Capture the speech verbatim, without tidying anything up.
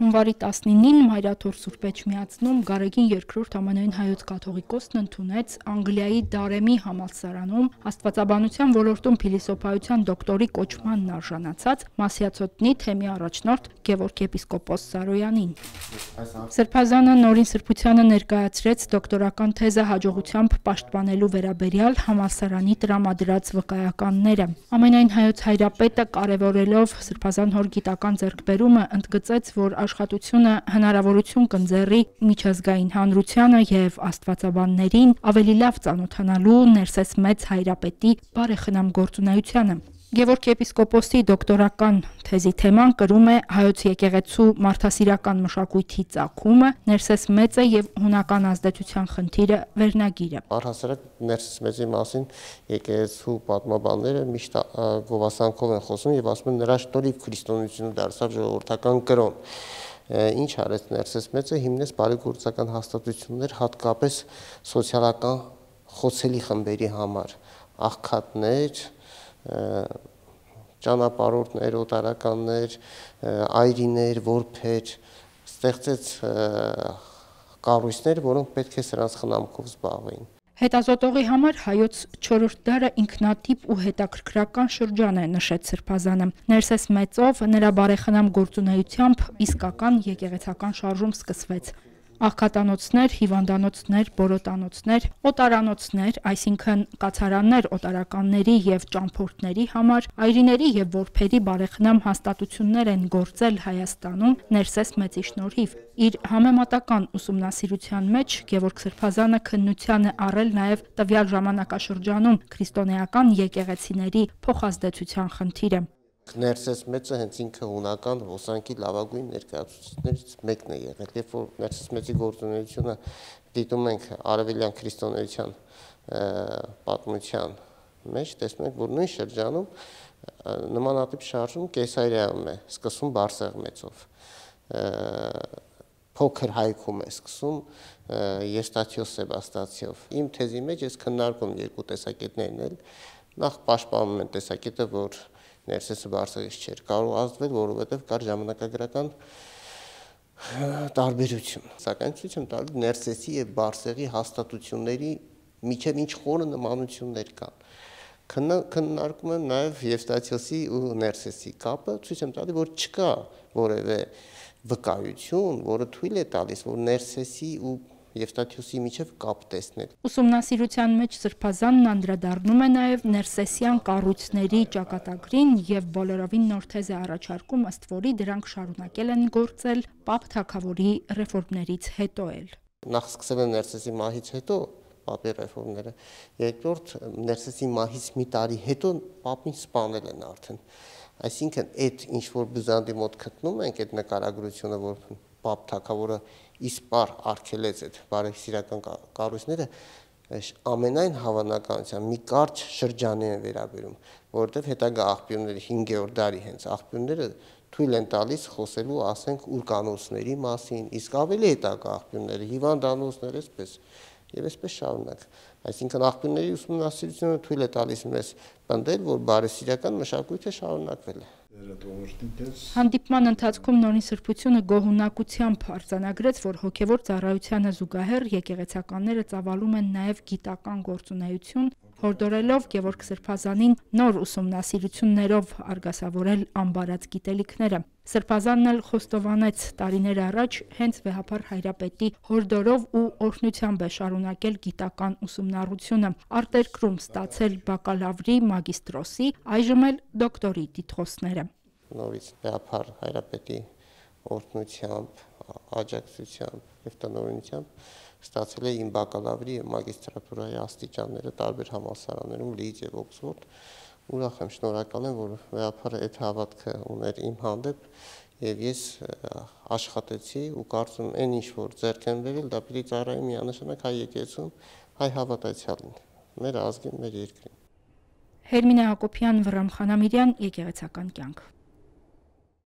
Հունվարի տասնինին Մայրաթոր Սուրբ Էջմիածնում Գարեգին երկրորդ ամենայն հայոց կաթողիկոսն ընդունեց Անգլիայի Դարեմի համալսարանում աստվածաբանության ոլորտում փիլիսոփայության դոկտորի կոչմանն արժանացած Մասյացոտնի թեմի առաջնորդ Գևորգ եպիսկոպոս Սարոյանին։ Սրբազանը նորին սրբությանը ներկայացրեց դոկտորական թեզը հաջողությամբ պաշտպանելու վերաբերյալ համալսարանի տրամադրած վկայականները։ Ամենայն հայոց հայրապետը կարևորելով Սրբազան հոր գիտական ձեռքբերումը ընդգծեց, որ աշխատությունը հնարավորություն կընձեռի միջազգային հանրությանը եւ աստվածաբաններին ավելի լավ ծանոթանալու ներսես մեծ հայրապետի բարեխնամ գործունեությանը։ Գևորգ եպիսկոպոսի դոկտորական թեզի թեման կրում է հայոց եկեղեցու մարդասիրական մշակույթի ծագումը, ներսես մեծը եւ հունական ազդեցության խնդիրը վերնագիրը։ Առհասարակ ներսես մեծի մասին եկեղեցու պատմաբանները միշտ գովասանքով են խոսում եւ ասում են նրա շնորհիվ քրիստոնեությունը դարձավ ժողովրդական կրոն։ Ինչ արեց ներսես մեծը, հիմնեց բարեգործական հաստատություններ հատկապես սոցիալական խոցելի խմբերի համար, աղքատներ, ճանապարհորդներ, օտարականներ, այրիներ, որբեր, ստեղծեց կառույցներ, որոնք պետք է սրանց խնամքով զբաղվեին։ Հետազոտողի համար հայոց չորրորդ դարը ինքնատիպ ու հետաքրքրական շրջան է, նշեց Սրբազանը։ Ներսես մեծով նրա բարեխնամ գործունեությամբ իսկական եկեղեցական շարժում սկսվեց։ Աղքատանոցներ, հիվանդանոցներ, բորոտանոցներ, օտարանոցներ, այսինքն կացարաններ օտարականների եւ ճամփորդների համար, այրիների եւ որբերի բարեխնամ հաստատություններ են գործել Հայաստանում ներսես մեծի շնորհիվ։ Իր համեմատական ուսումնասիրության մեջ Գևորգ Սրբազանը քննության է առել նաեւ տվյալ ժամանակաշրջանում քրիստոնեական եկեղեցիների փոխազդեցության խնդիրը։ Ներսես մեծը հենց ինքը հունական ոսանքի լավագույն ներկայացուցիչներից մեկն է եղել, երբ որ ներսես մեծի գործունեությունը դիտում ենք արևելյան քրիստոնեության պատմության մեջ, տեսնում ենք, որ նույն շրջանում նմանատիպ շարժում Կեսարիայում է սկսում Բարսեղ մեծով, փոքր Հայքում է սկսում Եստաթիոս Սեբաստացիով։ Իմ թեզի մեջ ես քննարկում երկու տեսակետներն էլ, նախ պաշտպանում են տեսակետը, որ Ներսեսը Բարսեղից չէր կարող ազդվել, որովհետև կար ժամանակագրական տարբերություն։ Սակայն ցույց եմ տալի Ներսեսի եւ Բարսեղի հաստատությունների միջև ինչ խորը նմանություններ կան։ Քննարկում եմ նաեւ Եվստաթիոսի ու Ներսեսի կապը, ցույց եմ տալի, որ չկա որևէ վկայություն, որը թույլ է տալիս, որ Ներսեսի ու Եվստաթիոսի միջև կապ տեսնել։ Ուսումնասիրության մեջ Սրբազանն անդրադառնում է նաև ներսեսյան կառույցների ճակատագրին եւ բոլորովին նոր թեզ է առաջարկում, ըստ որի դրանք շարունակել են գործել Պապ Թագավորի ռեֆորմներից հետո էլ։ Նախ սկսել են Ներսեսի մահից հետո Պապի ռեֆորմները, երկրորդ Ներսեսի մահից մի տարի հետո Պապին սպանել են արդեն։ Այսինքն այդ ինչ որ Բյուզանդի մոտ գտնում ենք այդ նկարագրությունը, որ Պապ Թագավորը իսպար արգելեց այդ բարեսիրական կառույցները, ամենայն հավանականությամբ մի կարճ շրջանի են վերաբերում, որովհետև հետագա աղբյուրները հինգերորդ դարի հենց աղբյուրները թույլ են տալիս խոսելու, ասենք, ուրկանոցների մասին, իսկ ավելի հետագա աղբյուրները հիվանդանոցներ, այսպես եւ այսպես շարունակ։ Այսինքն աղբյուրների ուսումնասիրությունը թույլ է տալիս մեզ պնդել, որ բարեսիրական մշակույթը շարունակվել է։ Հանդիպման ընթացքում նորին սրբությունը գոհունակությամբ արձանագրեց, որ հոգևոր ծառայությանը զուգահեռ եկեղեցականները ծավալում են նաև գիտական գործունեություն, հորդորելով Գևորգ Սրբազանին նոր ուսումնասիրություններով արգասավորել անբարած գիտելիքները։ Սրբազանն էլ խոստովանեց տարիներ առաջ հենց վեհափառ հայրապետի հորդորով ու օրհնությամբ է շարունակել գիտական ուսումնառությունը, արտերկրում ստացել բակալավրի, մագիստրոսի, այժմ էլ դոկտորի տիտղոսները։ Նորից վեհափառ հայրապետի օրհնությամբ, աջակցությամբ եւ տնօրինությամբ ստացել է իմ բակալավրի եւ մագիստրատուրայի աստիճանները տարբեր համալսարաններում, Լիդս եւ Օքսֆորդ։ Ուրախ եմ, շնորհակալ եմ, որ վեհափառը այդ հավատքը ուներ իմ հանդեպ եւ ես աշխատեցի ու կարծում եմ այն ինչ որ ձեռք եմ բերել, դա պիտի ծառայի միանշանակ հայ եկեղեցուն, հայ հավատացյալին, մեր ազգին, մեր երկրին։ Հերմինե Հակոբյան, Վռամ Խանամիրյան, Եկեղեցական կյանք։